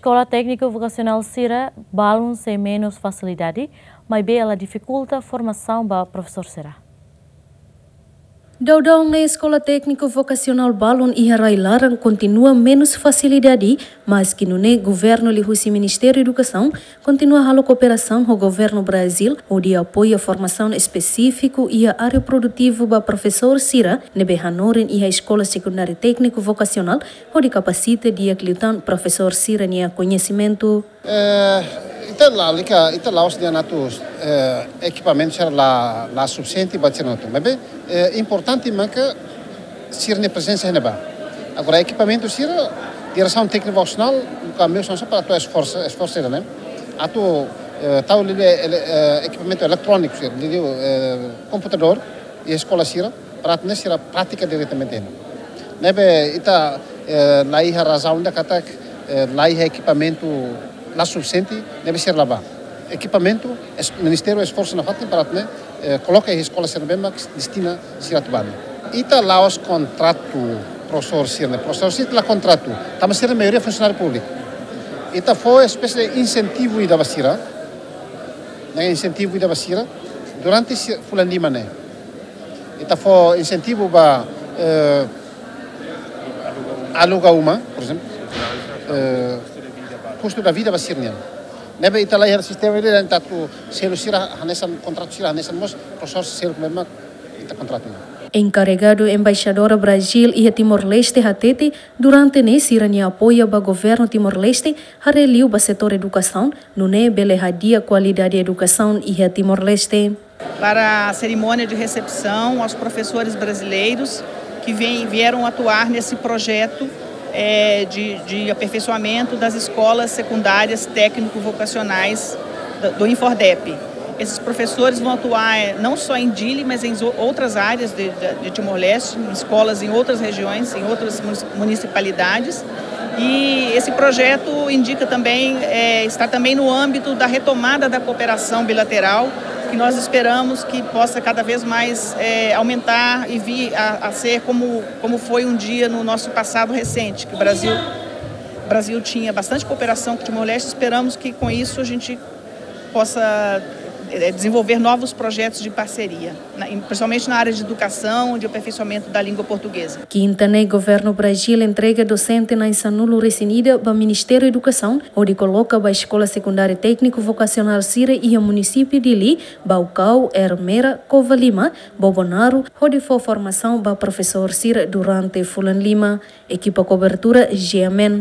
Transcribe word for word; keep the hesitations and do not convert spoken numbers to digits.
Eskola Tékniku Vokasionál sira balun sei menus fasilidade, maibé ela difikulta formasaun ba profesór sira. Daudaun ne'e Eskola Tékniku Vokasionál balun iha rai-laran kontinua menus fasilidade, maski nune'e governu liuhusi Ministériu Edukasaun kontinua halo kooperasaun ho governu Brazíl, hodi apoia formasaun espesífiku iha área produtivu ba profesór sira ne'ebé hanorin iha Eskola Sekundária Tékniku Vokasionál, hodi kapasita di'ak liután profesór sira-nia koñesimentu. Eh, ita lalika, ita la'ós dehan atu, eh, ekipamentu sira la, la sufisiente ba sira atu. Maibé, eh, importante maka sira-nia prezensa iha ne'ebá. Agora, ekipamentu sira, diresaun téknika vokasionál, ka meius sira para atu esforsa, esforsa sira, ne'e. Atu, eh, tau liuliu, ele-, eh, ekipamentu eletróniku sira, liuliu, eh, komputadór, iha eskola sira, para atu nune'e sira pratika diretamente iha ne'e. Ne'ebé ita, eh, la iha razaun ida katak, eh, la iha ekipamentu la sufisiente, ne'ebé sira la bá. Ekipamentu, es-, Ministériu esforsa nafatin para atu nune'e, eh, koloka iha eskola sira ne'ebé mak destina sira atu bá ne'e. Ita la'ós kontratu profesór sira ne'e, profesór sira la kontratu, tanba sira maioria funsionáriu públiku. Ita fó espésie de insentivu ida ba sira, ne'e insentivu ida ba sira, durante si-, fulan lima ne'e. Ita fó insentivu ba, eh, aluga uma, por ezemplu, eh, kustu da vida ba sira-nian. Ne'ebé ita la iha sistema ida, entaun atu selu sira hanesan, kontratu sira hanesan mós profesór sira ne'ebé mak ita kontratu. Enkarregadu Embaixadora Brazíl iha Timor-Leste hatete, durante ne'e sira-nia apoia ba governu Timor-Leste haree liu ba setór edukasaun, nune'e bele hadi'a kualidade edukasaun iha Timor-Leste. Para a cerimônia de recepção aos professores brasileiros que vêm, vieram atuar nesse projeto, eh, de, de aperfeiçoamento das escolas secundárias técnico-vocacionais do, do INFORDEP. Esses professores vão atuar, eh, não só em Dili, mas em zo-, outras áreas de, de, de Timor-Leste, em escolas em outras regiões, em outras munici-, municipalidades. E esse projeto indica também, eh, está também no âmbito da retomada da cooperação bilateral, que nós esperamos que possa cada vez mais, eh, aumentar e vir a, a ser como, como foi um dia no nosso passado recente, que o Brasil, o Brasil tinha bastante cooperação com Timor-Leste. Esperamos que com isso a gente possa, eh, desenvolver novos projetos de parceria, na, em, principalmente na área de educação, de aperfeiçoamento da língua portuguesa. Kinta ne'e governu Brazíl entrega dosente na'in sanulu-resin-ida ba Ministériu Edukasaun, hodi koloka ba eskola sekundária tékniku vokasionál sira iha munisípiu Dili, Baucau, Ermera, Covalima, Bobonaro, hodi fó formasaun ba profesór sira durante fulan lima. Ekipa kobertura, G M N.